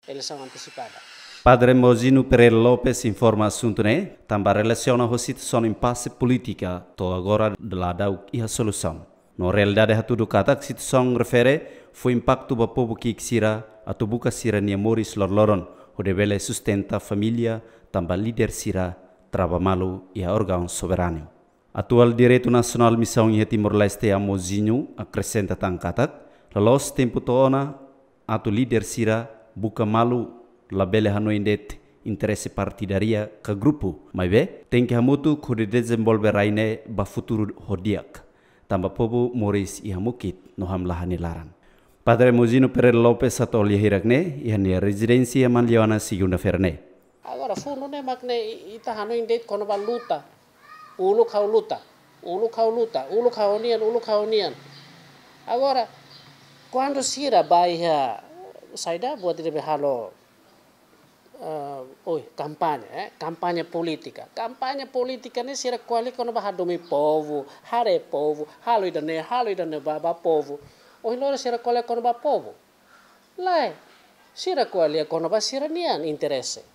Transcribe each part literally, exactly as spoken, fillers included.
eleisaun antesipada. Padre Mozino Pereira Lopes informa asuntu ne'e tanba relasiona ho situasaun impase polítika, to'o agora ladauk iha solusaun. No realidade hatudu katak situasaun refere fó impaktu ba povu ki'ik sira atu buka sira-nia moris loroloron, hodi bele sustenta família, tanba líder sira trava malu iha órgaun soberanu. Atuál Diretór Nasionál Misaun iha Timor-Leste, Mozino, akresenta tan katak, loloos tempu to'o ona atu líder sira buka malu, labele hanoin de'it interese partidária ka grupu, maibé tenke hamutuk hodi dezenvolve rai ne'e ba futuru ho di'ak, tanba povu moris iha mukit no hamlaha nia laran. Padre Mozino Pereira Lopes atu lia hirak ne'e iha nia rezidénsia Manliona, segunda-feira ne'e. Agora, fundu ne'e mak ne'e i-, ita hanoin de'it kona-ba luta. Uluk ha'u luta, uluk ha'u luta, uluk ha'u nian, uluk ha'u nian. Agora, kuandu sira ba iha, saida, buat ida be halo, eh, oi, kampaña, eh, kampaña polítika. Kampaña polítika ne'e sira ko'alia kona-ba hadomi povu, haree povu, halo ida-ne'e, halo ida-ne'e ba, ba povu. Ohin loron sira ko'alia kona-ba povu. Lae, sira ko'alia kona-ba sira-nian interese.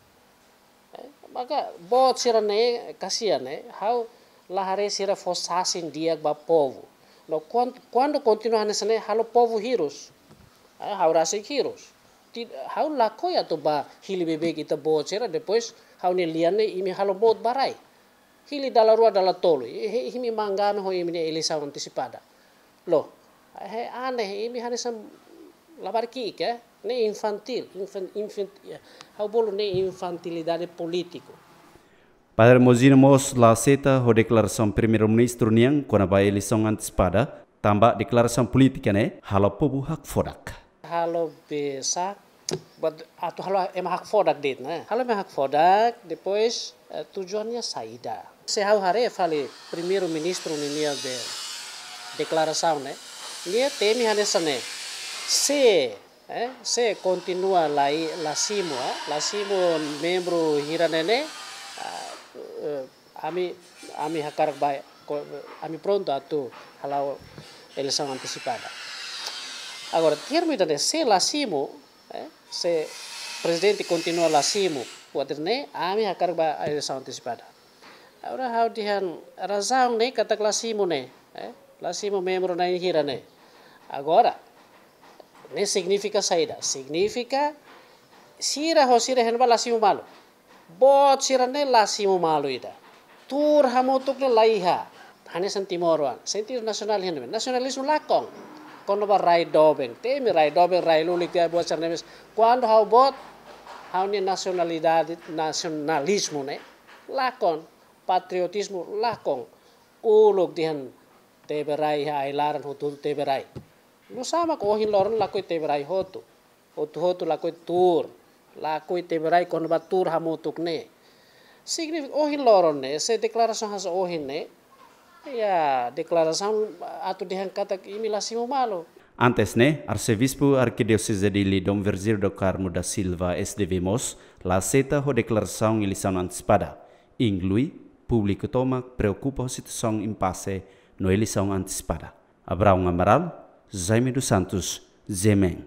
Eh, maka boot sira-ne'e, kasian, eh, ha'u la haree sira fó sasin di'ak ba povu. No kuan-, kuandu kontinua hanesan ne'e, halo povu hirus. Eh, ha'u rasik hirus. Ti-, ha'u lakohi atu ba hili beibeik ita-boot sira, depois ha'u-nia lian ne'e imi halo mout ba rai. Hili dala rua dala tolu, i-, i-, imi manganu ho imi-nia eleisaun antesipada. Loos, eh, aneh, imi hanesan labarik ki'ik, eh? Ne'e infantíl, infan-, infant-, ya. Ha'u bolu ne'e infantilidade polítiku. Padre Mozino mós la aseita ho deklarasaun Primeiru-Ministru nian kona-ba eleisaun antesipada, tanba deklarasaun polítika ne'e halo povu hakfodak. Halo be sa, buat atu halo ema hakfodak de'it, ne'e. Halo ema hakfodak, depois, eh, tujuannya saida. Se ha'u haree fali Primeiru-Ministru ninia be deklarasaun ne'e, nia temi hanesan ne'e. Se, eh, se kontinua la i-, la simu, eh, la simu membru hira ne'e ne'e, ah, eh, ami, ami hakarak ba, ko-, ami prontu atu hala'o eleisaun antesipada. Agora, termu ida-ne'e, se la simu, eh, se prezidente kontinua la simu, buat ida-ne'e, ami hakarak ba eleisaun antesipada. Agora, ha'u dehan razaun ne'e katak la simu ne'e, eh, la simu membru na'in-hira ne'e. Agora, ne'e signifika saida? Signifika sira ho sira-nia ba la simu malu. Boot sira-ne'e la simu malu ida. Tuur hamutuk ne'e la iha. Hanesan timoroan. Sentidu nasionál iha ne'ebé? Nasionalizmu lakon. Kona-ba rai doben. Temi rai doben, rai lulik, tiha buat sira-ne'e mós. Kuandu ha'u boot, ha'u-nia nasionalidade, nasionalizmu ne'e lakon. Patriotizmu lakon. Uluk dehan tebe rai iha ai-laran, hotu-hotu tebe rai. Nusá mak ohin loron lakohi tebe rai hotu. Hotu-hotu lakohi tuur. Lakohi tebe rai kona-ba tuur hamutuk ne'e. Signifika ohin loron ne'e, se deklarasaun hanesan ohin ne'e, ya, deklarasaun atu dehan katak imi la simu malu. Antes ne'e, Arsebispu Arkidioseze Dili Dom Virgílio do Carmo da Silva, S D V mós, la aseita ho deklarasaun eleisaun antesipada. Inklui públiku tomak preokupa ho situasaun impase no eleisaun antesipada. Abraão Amaral, Jaime dos Santos, G M N.